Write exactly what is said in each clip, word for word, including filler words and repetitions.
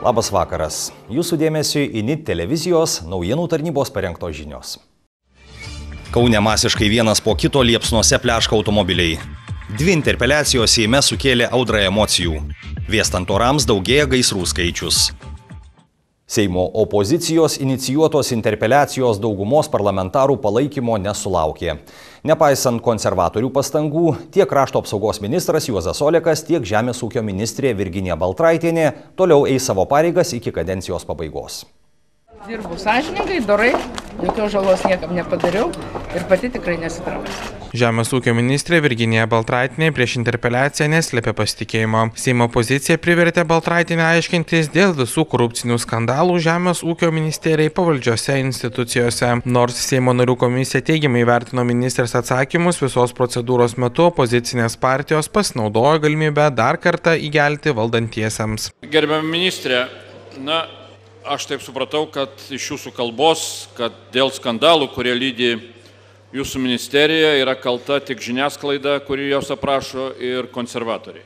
Labas vakaras. Jūsų dėmesiui I N I T televizijos naujienų tarnybos parengtos žinios. Kaune masiškai vienas po kito liepsnose pleška automobiliai. Dvi interpeliacijos Seime sukėlė audrą emocijų. Vėstant orams daugėja gaisrų skaičius. Seimo opozicijos inicijuotos interpeliacijos daugumos parlamentarų palaikymo nesulaukė. Nepaisant konservatorių pastangų, tiek krašto apsaugos ministras Juozas Olekas, tiek žemės ūkio ministrė Virginija Baltraitienė toliau eis savo pareigas iki kadencijos pabaigos. Dirbu sąžiningai, dorai, jokios žalos niekam nepadariau ir pati tikrai nesitrauksiu. Žemės ūkio ministrė Virginija Baltraitienė prieš interpeliaciją neslėpė pasitikėjimo. Seimo pozicija privertė Baltraitienę aiškintis dėl visų korupcinių skandalų žemės ūkio ministerijai pavaldžiose institucijose. Nors Seimo narių komisija teigiamai vertino ministrės atsakymus, visos procedūros metu opozicinės partijos pasinaudojo galimybę dar kartą įgelti valdantiesiems. Gerbiama ministrė, na, aš taip supratau, kad iš jūsų kalbos, kad dėl skandalų, kurie lydi jūsų ministerija, yra kalta tik žiniasklaida, kuri jos aprašo, ir konservatoriai.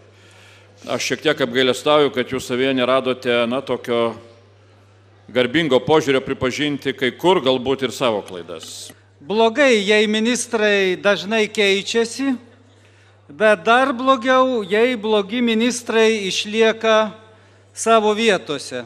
Aš šiek tiek apgailestauju, kad jūs savyje neradote, na, tokio garbingo požiūrio pripažinti kai kur galbūt ir savo klaidas. Blogai, jei ministrai dažnai keičiasi, bet dar blogiau, jei blogi ministrai išlieka savo vietose.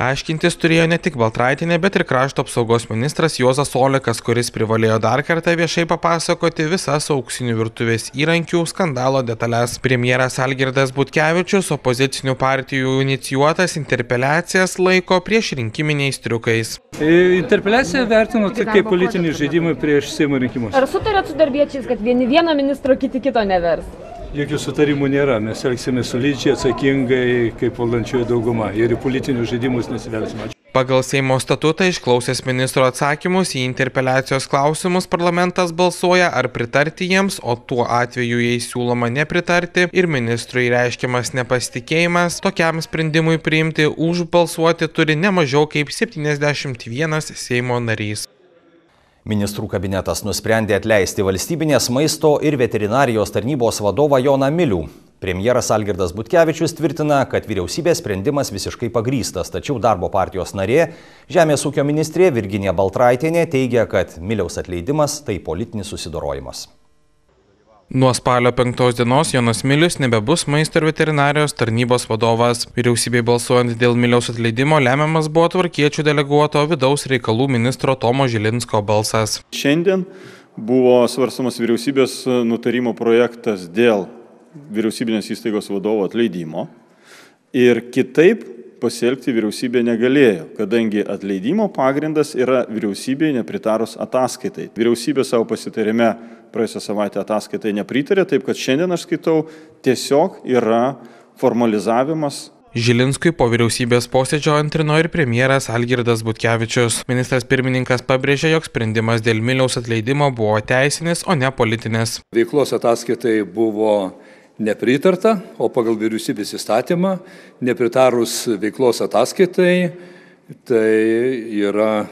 Aiškintis turėjo ne tik Baltraitienė, bet ir krašto apsaugos ministras Juozas Olekas, kuris privalėjo dar kartą viešai papasakoti visas auksinių virtuvės įrankių skandalo detalės. Premjeras Algirdas Butkevičius opozicinių partijų inicijuotas interpeliacijas laiko prieš rinkiminiais triukais. Interpeliaciją vertinu tik kaip politinį žaidimą prieš Seimo rinkimus. Ar sutarėt su darbiečiais, kad vieni vieno ministro, kiti kito nevers? Jokių sutarimų nėra, mes elgsime solidžiai, atsakingai, kaip valdančioji dauguma ir į politinius žaidimus nesivelsime. Pagal Seimo statutą išklausęs ministro atsakymus į interpeliacijos klausimus parlamentas balsuoja ar pritarti jiems, o tuo atveju, jei siūloma nepritarti ir ministrui reiškiamas nepasitikėjimas, tokiam sprendimui priimti už balsuoti turi ne mažiau kaip septyniasdešimt vienas Seimo narys. Ministrų kabinetas nusprendė atleisti valstybinės maisto ir veterinarijos tarnybos vadovą Joną Milių. Premjeras Algirdas Butkevičius tvirtina, kad vyriausybės sprendimas visiškai pagrįstas, tačiau darbo partijos narė, žemės ūkio ministrė Virginija Baltraitienė teigia, kad Miliaus atleidimas tai politinis susidorojimas. Nuo spalio penktos dienos Jonas Milius nebebus maisto ir veterinarijos tarnybos vadovas. Vyriausybei balsuojant dėl Miliaus atleidimo lemiamas buvo tvarkiečių deleguoto vidaus reikalų ministro Tomo Žilinsko balsas. Šiandien buvo svarstamas vyriausybės nutarimo projektas dėl vyriausybinės įstaigos vadovo atleidimo ir kitaip pasielgti vyriausybė negalėjo, kadangi atleidimo pagrindas yra vyriausybei nepritarus ataskaitai. Vyriausybė savo pasitarime praėjusią savaitę ataskaitai nepritarė, taip kad šiandien aš skaitau tiesiog yra formalizavimas. Žilinskui po vyriausybės posėdžio antrino ir premjeras Algirdas Butkevičius. Ministras pirmininkas pabrėžė, jog sprendimas dėl Miliaus atleidimo buvo teisinis, o ne politinis. Veiklos ataskaitai buvo nepritarta, o pagal vyriausybės įstatymą nepritarus veiklos ataskaitai, tai yra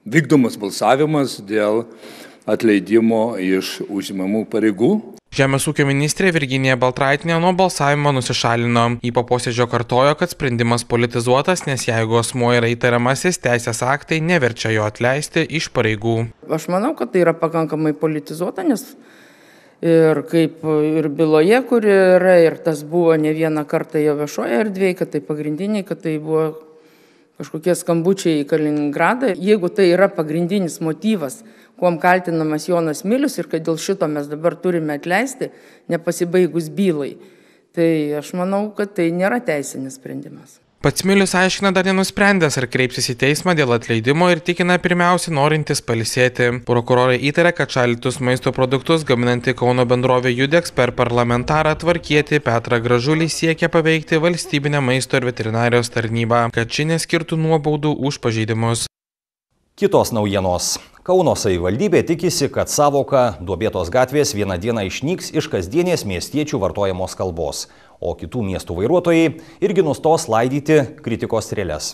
vykdomas balsavimas dėl atleidimo iš užimamų pareigų. Žemės ūkio ministrė Virginija Baltraitienė nuo balsavimo nusišalino. Į po posėdžio kartojo, kad sprendimas politizuotas, nes jeigu asmuo yra įtariamasis, teisės aktai neverčia jo atleisti iš pareigų. Aš manau, kad tai yra pakankamai politizuota, nes ir kaip ir byloje, kuri yra, ir tas buvo ne vieną kartą jo viešoje erdvėje, kad tai pagrindiniai, kad tai buvo kažkokie skambučiai į Kaliningradą. Jeigu tai yra pagrindinis motyvas, kuom kaltinamas Jonas Milius ir kad dėl šito mes dabar turime atleisti, nepasibaigus bylai, tai aš manau, kad tai nėra teisinis sprendimas. Pats Milius aiškina dar nenusprendęs, ar kreipsis į teismą dėl atleidimo ir tikina pirmiausia norintis pailsėti. Prokurorai įtarė, kad šaldytus maisto produktus gaminanti Kauno bendrovė Judex per parlamentarą tvarkietį Petrą Gražulį siekia paveikti valstybinę maisto ir veterinarijos tarnybą, kad ši neskirtų nuobaudų už pažeidimus. Kitos naujienos. Kauno savivaldybė tikisi, kad sąvoka duobėtos gatvės vieną dieną išnyks iš kasdienės miestiečių vartojamos kalbos, o kitų miestų vairuotojai irgi nustos laidyti kritikos strėles.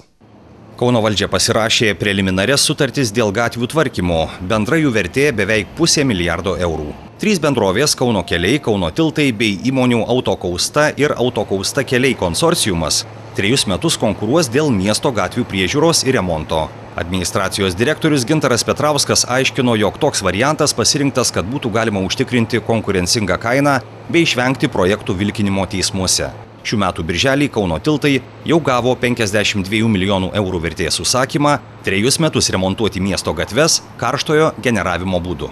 Kauno valdžia pasirašė preliminarias sutartis dėl gatvių tvarkymo. Bendra jų vertė beveik pusė milijardo eurų. Trys bendrovės Kauno keliai, Kauno tiltai bei įmonių Autokausta ir Autokausta keliai konsorciumas trejus metus konkuruos dėl miesto gatvių priežiūros ir remonto. Administracijos direktorius Gintaras Petrauskas aiškino, jog toks variantas pasirinktas, kad būtų galima užtikrinti konkurencingą kainą bei išvengti projektų vilkinimo teismuose. Šių metų birželį Kauno tiltai jau gavo penkiasdešimt dviejų milijonų eurų vertės užsakymą trejus metus remontuoti miesto gatves karštojo generavimo būdu.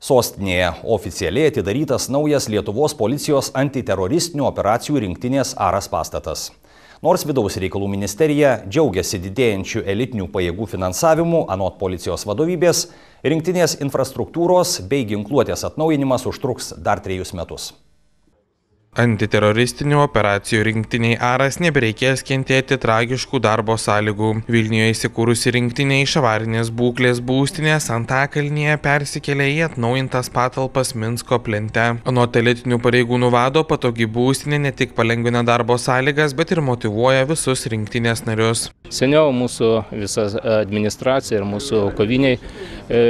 Sostinėje oficialiai atidarytas naujas Lietuvos policijos antiteroristinių operacijų rinktinės Aras pastatas. Nors Vidaus reikalų ministerija džiaugiasi didėjančių elitinių pajėgų finansavimu, anot policijos vadovybės, rinktinės infrastruktūros bei ginkluotės atnaujinimas užtruks dar trejus metus. Antiteroristinių operacijų rinktiniai Aras nebereikės kentėti tragiškų darbo sąlygų. Vilniuje įsikūrusi rinktinė iš avarinės būklės būstinės Antakalnyje persikėlė į atnaujintas patalpas Minsko plente. Anot elitinių pareigūnų vado, patogi būstinė ne tik palengvina darbo sąlygas, bet ir motyvuoja visus rinktinės narius. Seniau mūsų visa administracija ir mūsų koviniai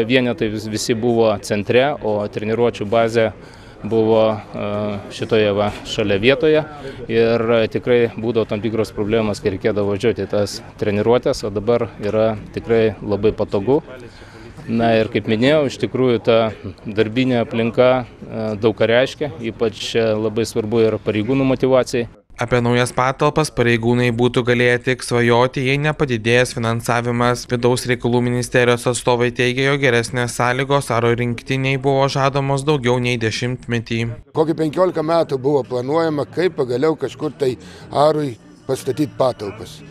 vienetai visi buvo centre, o treniruočių bazė buvo šitoje va, šalia vietoje ir tikrai būdavo tam tikros problemas, kai reikėdavo važiuoti tas treniruotės, o dabar yra tikrai labai patogu. Na ir kaip minėjau, iš tikrųjų ta darbinė aplinka daug ką reiškia, ypač labai svarbu yra pareigūnų motyvacijai. Apie naujas patalpas pareigūnai būtų galėję tik svajoti, jei nepadidėjęs finansavimas. Vidaus reikalų ministerijos atstovai teigia, jog geresnės sąlygos Aro rinktiniai buvo žadamos daugiau nei dešimtmetį. Kokį penkiolika metų buvo planuojama, kaip pagaliau kažkur tai Arui pastatyti patalpas.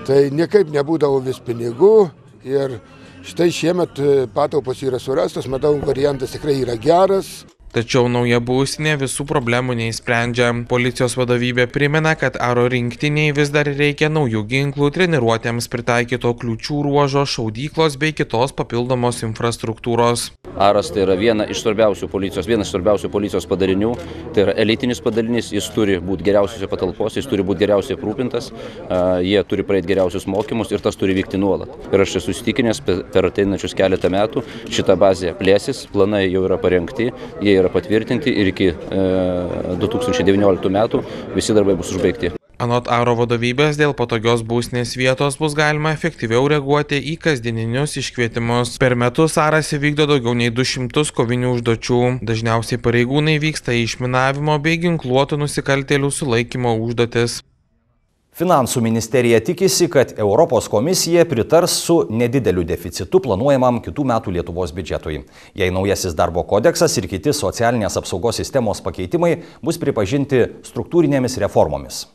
Tai niekaip nebūdavo vis pinigų ir štai šiemet patalpos yra surastos, matau, variantas tikrai yra geras. Tačiau nauja būstinė visų problemų neįsprendžia. Policijos vadovybė primena, kad Aro rinktiniai vis dar reikia naujų ginklų, treniruotėms pritaikyto kliūčių ruožo, šaudyklos bei kitos papildomos infrastruktūros. Aras tai yra viena iš svarbiausių policijos, vienas svarbiausių policijos padarinių, tai yra elitinis padarinys, jis turi būti geriausiose patalpose, jis turi būti geriausiai aprūpintas, jie turi praeiti geriausius mokymus ir tas turi vykti nuolat. Ir aš esu įsitikinęs, per ateinančius keletą metų šita bazė plėsis, planai jau yra parengti, jie yra patvirtinti ir iki du tūkstančiai devynioliktų metų visi darbai bus užbaigti. Anot Aro vadovybės, dėl patogios būstinės vietos bus galima efektyviau reaguoti į kasdieninius iškvietimus. Per metus Aras įvykdo daugiau nei du šimtus kovinių užduočių. Dažniausiai pareigūnai vyksta į išminavimo bei ginkluotų nusikaltėlių sulaikymo užduotis. Finansų ministerija tikisi, kad Europos komisija pritars su nedideliu deficitu planuojamam kitų metų Lietuvos biudžetui. Jei naujasis darbo kodeksas ir kiti socialinės apsaugos sistemos pakeitimai bus pripažinti struktūrinėmis reformomis.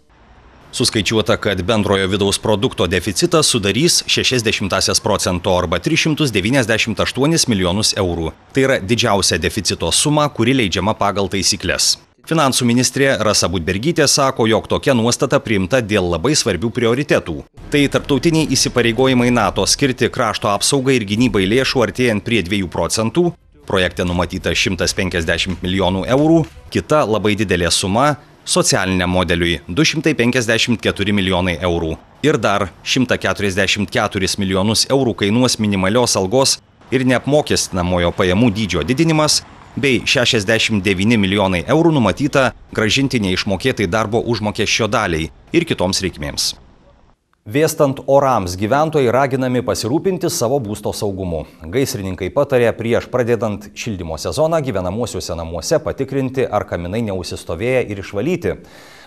Suskaičiuota, kad bendrojo vidaus produkto deficitas sudarys šešias dešimtąsias procento arba tris šimtus devyniasdešimt aštuonis milijonus eurų. Tai yra didžiausia deficito suma, kuri leidžiama pagal taisykles. Finansų ministrė Rasa Budbergytė sako, jog tokia nuostata priimta dėl labai svarbių prioritetų. Tai tarptautiniai įsipareigojimai NATO skirti krašto apsaugai ir gynybai lėšų artėjant prie dviejų procentų, projekte numatyta šimtas penkiasdešimt milijonų eurų, kita labai didelė suma socialiniam modeliui du šimtai penkiasdešimt keturi milijonai eurų. Ir dar šimtas keturiasdešimt keturis milijonus eurų kainuos minimalios algos ir neapmokestinamojo pajamų dydžio didinimas, bei šešiasdešimt devyni milijonai eurų numatyta grąžinti neišmokėtai darbo užmokesčio daliai ir kitoms reikmėms. Vėstant orams, gyventojai raginami pasirūpinti savo būsto saugumu. Gaisrininkai patarė prieš pradedant šildymo sezoną gyvenamuosiuose namuose patikrinti, ar kaminai neužsistovėję ir išvalyti.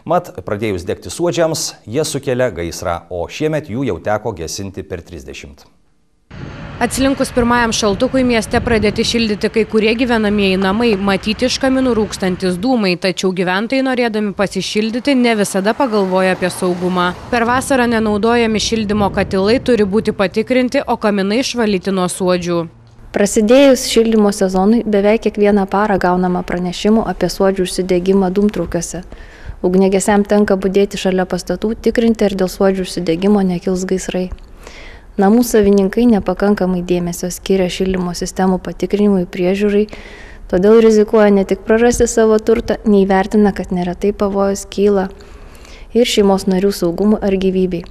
Mat, pradėjus degti suodžiams, jie sukelia gaisrą, o šiemet jų jau teko gesinti per trisdešimt. Atslinkus pirmajam šaltukui mieste pradėti šildyti kai kurie gyvenamieji namai, matyti iš kaminų rūkstantis dūmai, tačiau gyventojai norėdami pasišildyti ne visada pagalvoja apie saugumą. Per vasarą nenaudojami šildymo katilai turi būti patikrinti, o kaminai išvalyti nuo suodžių. Prasidėjus šildymo sezonui beveik kiekvieną parą gaunama pranešimų apie suodžių užsidegimą dūmtraukiuose. Ugniagesiam tenka budėti šalia pastatų, tikrinti, ar dėl suodžių užsidegimo nekils gaisrai. Namų savininkai nepakankamai dėmesio skiria šildymo sistemų patikrinimui priežiūrai, todėl rizikuoja ne tik prarasti savo turtą, neįvertina, kad neretai pavojus kyla ir šeimos narių saugumui ar gyvybei.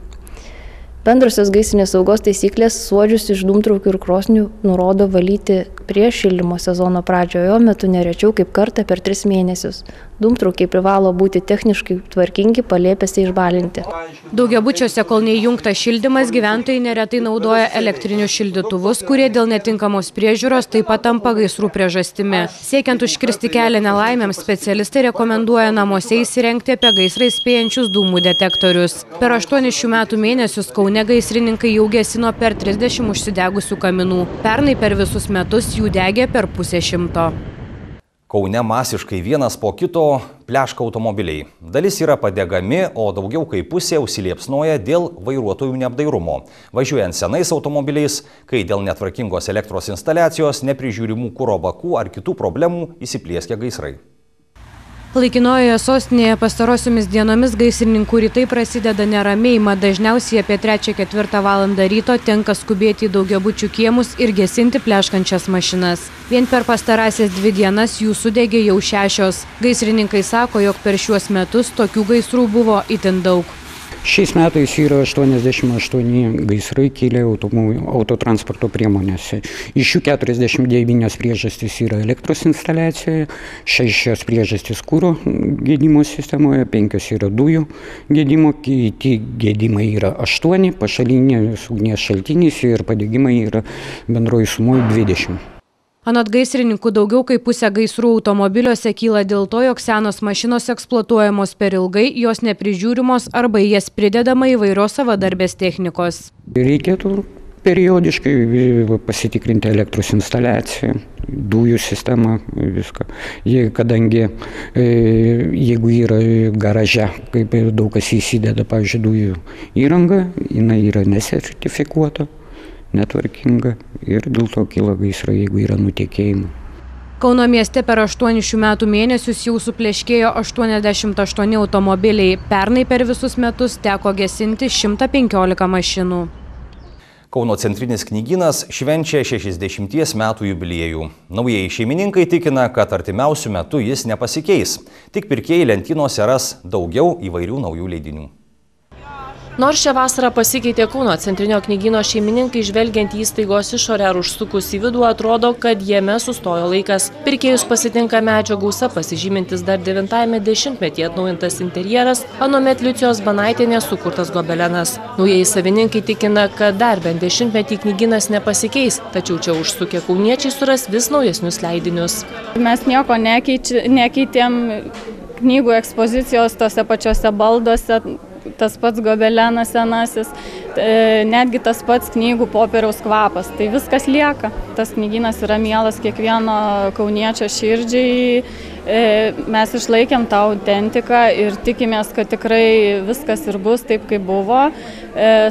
Bendrosios gaisrinės saugos taisyklės suodžius iš dūmtraukių ir krosnių nurodo valyti prieš šildymo sezono pradžiojo metu nerečiau kaip kartą per tris mėnesius. Dūmtraukiai privalo būti techniškai tvarkingi, palėpėse išbalinti. Daugiabučiuose, kol neįjungtas šildymas, gyventojai neretai naudoja elektrinius šildytuvus, kurie dėl netinkamos priežiūros taip pat tampa gaisrų priežastimi. Siekiant užkirsti kelią nelaimėms, specialistai rekomenduoja namuose įsirengti apie gaisrą įspėjančius dūmų detektorius. Per aštuonis šių metų mėnesius Kaune gaisrininkai jau gesino per trisdešimt užsidegusių kaminų. Pernai per visus metus jų degė per pusę šimto. Kaune masiškai vienas po kito pleška automobiliai. Dalis yra padegami, o daugiau kaip pusė užsiliepsnoja dėl vairuotojų neapdairumo. Važiuojant senais automobiliais, kai dėl netvarkingos elektros instaliacijos, neprižiūrimų kuro bakų ar kitų problemų įsiplieskia gaisrai. Laikinojoje sostinėje pastarosiomis dienomis gaisrininkų rytai prasideda neramiai, mat dažniausiai apie trečią ketvirtą valandą ryto tenka skubėti į daugiabučių kiemus ir gesinti pleškančias mašinas. Vien per pastarąsias dvi dienas jų sudegė jau šešios. Gaisrininkai sako, jog per šiuos metus tokių gaisrų buvo itin daug. Šiais metais yra aštuoniasdešimt aštuoni gaisrai kilę autotransporto priemonėse. Iš jų keturiasdešimt devynios priežastys yra elektros instaliacijoje, šešios priežastys kuro gedimo sistemoje, penkios yra dujų gedimo, kiti gedimai yra aštuoni, pašalinės ugnies šaltinis ir padegimai yra bendroji sumoje dvidešimt. Anot gaisrininkų, daugiau kaip pusė gaisrų automobiliuose kyla dėl to, jog senos mašinos eksploatuojamos per ilgai, jos neprižiūrimos arba į jas pridedama įvairios savadarbės technikos. Reikėtų periodiškai pasitikrinti elektros instaliaciją, dujų sistemą, viską. Kadangi jeigu yra garaže, kaip daug kas įsideda, pavyzdžiui, dujų įranga, jinai yra nesertifikuota, netvarkinga ir dėl to kyla gaisrai, jeigu yra nutekėjimai. Kauno mieste per aštuonis šių metų mėnesius jau supleškėjo aštuoniasdešimt aštuoni automobiliai. Pernai per visus metus teko gesinti šimtą penkiolika mašinų. Kauno centrinis knygynas švenčia šešiasdešimties metų jubiliejų. Naujieji šeimininkai tikina, kad artimiausių metų jis nepasikeis. Tik pirkėjai lentynose ras daugiau įvairių naujų leidinių. Nors šią vasarą pasikeitė Kauno centrinio knygyno šeimininkai, žvelgiant į įstaigos išorę ar užsukus į vidų, atrodo, kad jame sustojo laikas. Pirkėjus pasitinka medžio gausa, pasižymintis dar devintajame dešimtmetyje atnaujintas interjeras, anuomet Liucijos Banaitienės sukurtas gobelenas. Naujieji savininkai tikina, kad dar bent dešimtmetį knygynas nepasikeis, tačiau čia užsukę kauniečiai suras vis naujesnius leidinius. Mes nieko nekeič, nekeitėm knygų ekspozicijos tose pačiose balduose. Tas pats gobelenas senasis, netgi tas pats knygų popieriaus kvapas. Tai viskas lieka. Tas knygynas yra mielas kiekvieno kauniečio širdžiai. Mes išlaikėm tą autentiką ir tikimės, kad tikrai viskas ir bus taip, kaip buvo.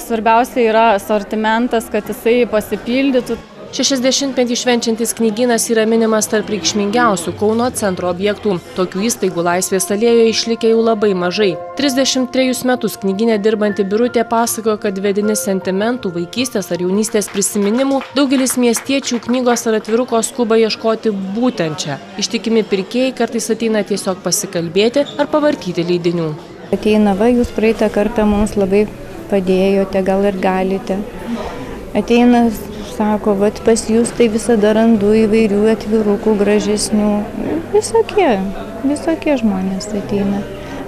Svarbiausia yra asortimentas, kad jisai pasipildytų. šešiasdešimtmetį švenčiantis knygynas yra minimas tarp reikšmingiausių Kauno centro objektų. Tokių įstaigų Laisvės alėjoje išlikę jau labai mažai. trisdešimt trejus metus knygyne dirbanti Birutė pasakojo, kad vedini sentimentų, vaikystės ar jaunystės prisiminimų, daugelis miestiečių knygos ar atviruko skuba ieškoti būtent čia. Ištikimi pirkėjai kartais ateina tiesiog pasikalbėti ar pavartyti leidinių. Ateina, va, jūs praeitą kartą mums labai padėjote, gal ir galite. Ateina, sako, vat pas jūs tai visada randu įvairių atvirukų gražesnių. Visokie, visokie žmonės ateina.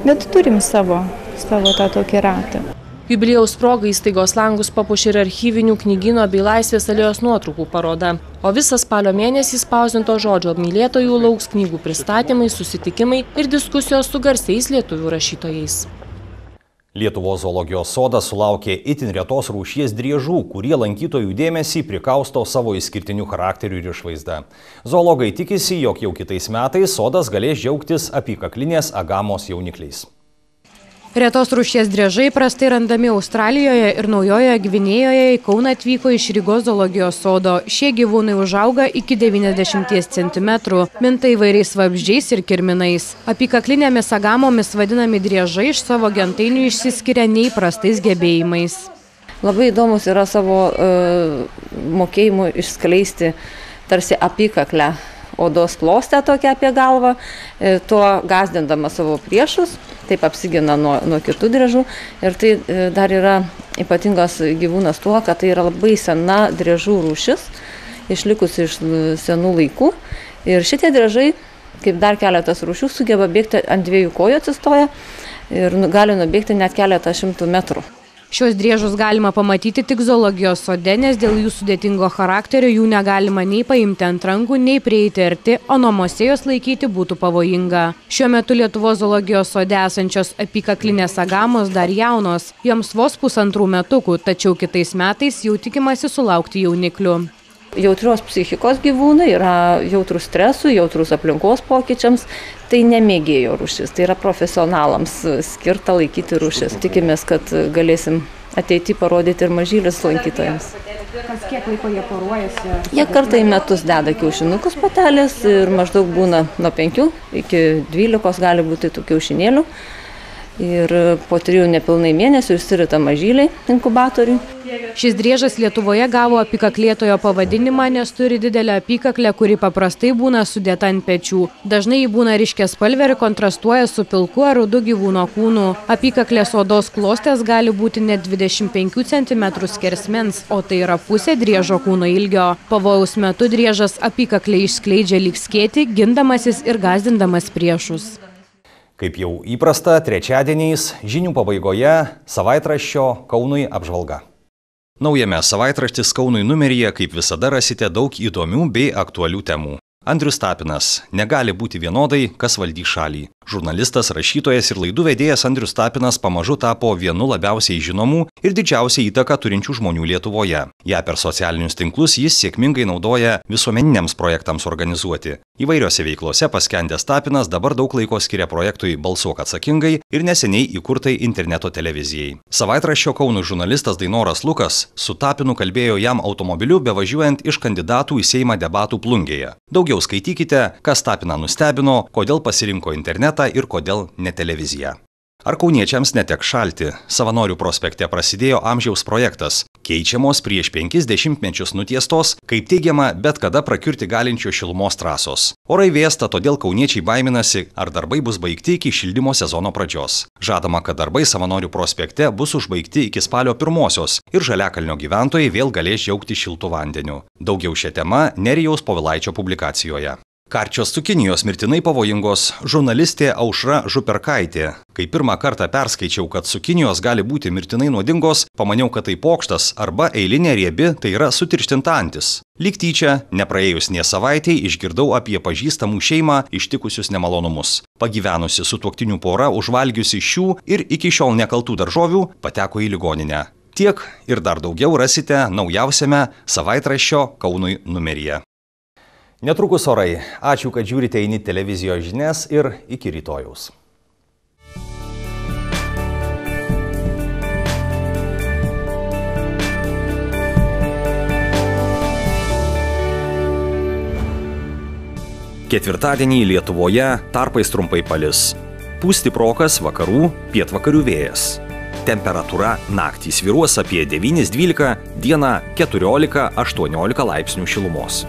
Bet turim savo, savo tą tokį ratą. Jubiliejaus proga įstaigos langus papuošė ir archyvinių knygyno bei Laisvės alėjos nuotraukų paroda. O visą spalio mėnesį spausdinto žodžio mylėtojų lauks knygų pristatymai, susitikimai ir diskusijos su garsiais lietuvių rašytojais. Lietuvos zoologijos sodas sulaukė itin retos rūšies driežų, kurie lankytojų dėmesį prikausto savo išskirtiniu charakteriu ir išvaizda. Zoologai tikisi, jog jau kitais metais sodas galės džiaugtis apykaklinės agamos jaunikliais. Retos rūšies driežai prastai randami Australijoje ir Naujojoje Gvinėjoje į Kauną atvyko iš Rygos zoologijos sodo. Šie gyvūnai užauga iki devyniasdešimties centimetrų, minta įvairiais vabzdžiais ir kirminais. Apykaklinėmis agamomis vadinami driežai iš savo gentainių išsiskiria neįprastais gebėjimais. Labai įdomus yra savo e, mokėjimu išskleisti tarsi apykaklę odos klostę tokią apie galvą, e, tuo gąsdindama savo priešus, taip apsigina nuo, nuo kitų driežų. Ir tai e, dar yra ypatingas gyvūnas tuo, kad tai yra labai sena driežų rūšis, išlikusi iš senų laikų. Ir šitie driežai kaip dar keletas rūšių sugeba bėgti ant dviejų kojų atsistoję ir gali nubėgti net keletą šimtų metrų. Šios driežus galima pamatyti tik zoologijos sode, nes dėl jų sudėtingo charakterio jų negalima nei paimti ant rankų, nei prieiti arti, o namuose jos laikyti būtų pavojinga. Šiuo metu Lietuvos zoologijos sode esančios apykaklinės agamos dar jaunos, joms vos pusantrų metukų, tačiau kitais metais jau tikimasi sulaukti jauniklių. Jautrios psichikos gyvūnai yra jautrus stresui, jautrus aplinkos pokyčiams, tai nemėgėjo rūšis, tai yra profesionalams skirta laikyti rūšis. Tikimės, kad galėsim ateity parodyti ir mažylius lankytojams. Kas kiek laiko jie poruojasi? Jie kartą į metus deda kiaušinukus patelės ir maždaug būna nuo penkių iki dvylikos gali būti tų kiaušinėlių. Ir po trijų nepilnai mėnesių išsirita mažyliai inkubatoriui. Šis driežas Lietuvoje gavo apykaklėtojo pavadinimą, nes turi didelę apykaklę, kuri paprastai būna sudėta ant pečių. Dažnai ji būna ryškiaspalvė ir kontrastuoja su pilku ar rudu gyvūno kūnu. Apykaklės odos klostės gali būti net dvidešimt penkių centimetrų skersmens, o tai yra pusė driežo kūno ilgio. Pavojaus metu driežas apykaklę išskleidžia lyg skėtį, gindamasis ir gąsdindamas priešus. Kaip jau įprasta, trečiadieniais žinių pabaigoje savaitraščio Kaunui apžvalga. Naujame savaitraštis Kaunui numeryje, kaip visada, rasite daug įdomių bei aktualių temų. Andrius Tapinas. Negali būti vienodai, kas valdys šalį. Žurnalistas, rašytojas ir laidų vedėjas Andrius Tapinas pamažu tapo vienu labiausiai žinomų ir didžiausią įtaką turinčių žmonių Lietuvoje. Ja per socialinius tinklus jis sėkmingai naudoja visuomeniniams projektams organizuoti. Įvairiose veiklose paskendęs Tapinas dabar daug laiko skiria projektui Balsuok atsakingai ir neseniai įkurtai interneto televizijai. Savaitraščio Kaunui žurnalistas Dainoras Lukas su Tapinu kalbėjo jam automobiliu bevažiuojant iš kandidatų į Seimą debatų Plungėje. Daugiau skaitykite, kas Tapiną nustebino, kodėl pasirinko internetą ir kodėl ne televiziją. Ar kauniečiams neteks šalti? Savanorių prospekte prasidėjo amžiaus projektas. Keičiamos prieš penkis dešimtmečius nutiestos, kaip teigiama, bet kada prakiurti galinčio šilumos trasos. Orai vėsta, todėl kauniečiai baiminasi, ar darbai bus baigti iki šildymo sezono pradžios. Žadama, kad darbai Savanorių prospekte bus užbaigti iki spalio pirmosios ir Žaliakalnio gyventojai vėl galės džiaugti šiltų vandeniu. Daugiau šią temą Nerijaus Povilaičio publikacijoje. Karčios cukinijos mirtinai pavojingos. Žurnalistė Aušra Župerkaitė. Kai pirmą kartą perskaičiau, kad cukinijos gali būti mirtinai nuodingos, pamaniau, kad tai pokštas arba eilinė riebi, tai yra sutirštinta antis. Lyg tyčia, nepraėjus nė savaitei, išgirdau apie pažįstamų šeimą ištikusius nemalonumus. Pagyvenusi sutuoktinių pora, užvalgiusi šių ir iki šiol nekaltų daržovių, pateko į ligoninę. Tiek ir dar daugiau rasite naujausiame savaitraščio Kaunui numeryje. Netrukus orai. Ačiū, kad žiūrite į N I T televizijos žinias ir iki rytojaus. Ketvirtadienį Lietuvoje tarpais trumpai palis. Pūs stiprokas vakarų, pietvakarių vėjas. Temperatūra naktį svyruos apie devynis dvylika, dieną keturiolika aštuoniolika laipsnių šilumos.